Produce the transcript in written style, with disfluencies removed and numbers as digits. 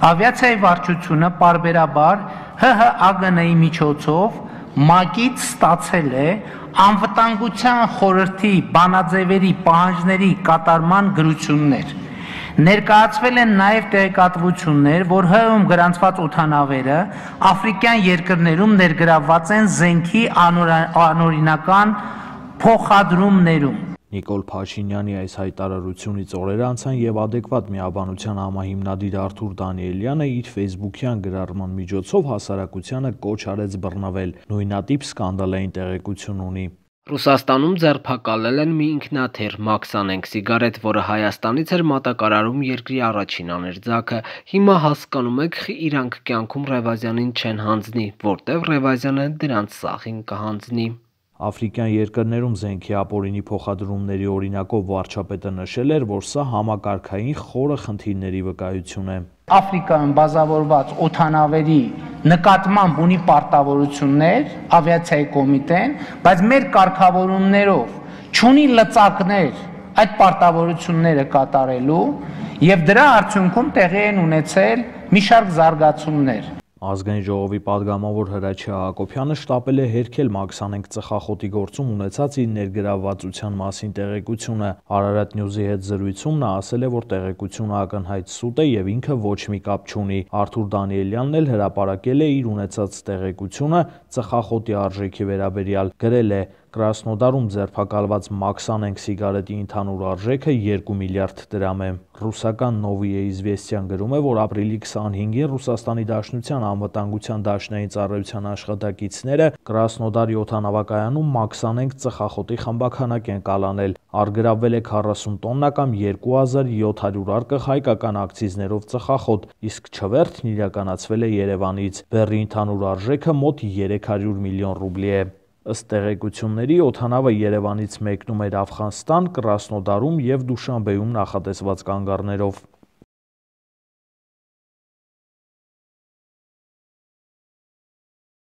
Ավիացիայի վարչությունը պարբերաբար ՀՀԱԳՆ-ի միջոցով ՄԱԿ-ից ստացել է անվտանգության խորհրդի բանաձևերի պահանջների կատարման գրություններ։ Ներկայացվել են նաև տեղեկատվություններ, որ ՀՀ-ում գրանցված օդանավերը աֆրիկյան երկրներում ներգրավված են զենքի անօրինական փոխադրումներում։ Նիկոլ Փաշինյանի այս հայտարարությունից օրեր անցան եւ Adekvat միաբանության համահիմնադիր Արթուր Դանիելյանը իր ֆեյսբուքյան գրառման միջոցով հասարակությանը կոչ արեց բռնվել, նույնատիպ սկանդալային տեղեկություն ունի։ Ռուսաստանում ձերբակալել են մի ինքնաթիռ Մաքսանենք սիգարետ, որը Հայաստանից էր մատակարարում երկրի առաջին աներձակը։ Հիմա հասկանում եք, իրանք կյանքում Ռևազյանին չեն հանձնի, որտեվ Ռևազյանը դրանց սախին կհանձնի։ Աֆրիկյան երկրներում զենքի ապօրինի փոխադրումների օրինակով վարչապետը նշել էր, որ սա համակարգային խորը խնդիրների վկայություն է։ Աֆրիկայում բազավորված օդանավերի նկատմամբ ունի պարտավորություններ ավիացիայի կոմիտեն, բայց մեր կարգավորումներով չունի լծակներ այդ պարտավորությունները կատարելու եւ դրա արդյունքում տեղի են ունեցել մի շարք զարգացումներ։ Ազգային ժողովի падգամավոր Հրաչյա Հակոբյանը շտապել է հերքել Մաքսանենք ծխախոտի գործում ունեցած իր ներգրավվածության մասին տեղեկությունը։ Արարատ Նյուզի հետ զրույցում նա ասել է, որ տեղեկությունը ակնհայտ սուտ է եւ ինքը ոչ մի կապ չունի։ Արթուր Դանիելյանն էլ հրապարակել է իր ունեցած տեղեկությունը ծխախոտի արժեքի վերաբերյալ, գրել է. Կրասնոդարում ձերբակալված Մաքսանենք սիգարետի ընդհանուր արժեքը 2 միլիարդ դրամ է։ Ռուսական Նովիե Իզվեստիան գրում է, որ ապրիլի 25-ին Ռուսաստանի Դաշնության անվտանգության դաշնային ծառայության աշխատակիցները Կրասնոդարի օդանավակայանում Մաքսանենք ծխախոտի խմբաքանակ են կալանել։ Առգրավվել է 40 տոննա կամ 2700 արկղ հայկական ակցիզներով ծխախոտ, իսկ չվերթն իրականացվել է Երևանից։ Բեռի ընդհանուր արժեքը մոտ 300 միլիոն ռուբլի է։ Ըստ տեղեկությունների օդանավը Երևանից մեկնում էր Աֆղանստան, Կրասնոդարում եւ Դուշանբեում նախատեսված կանգառներով։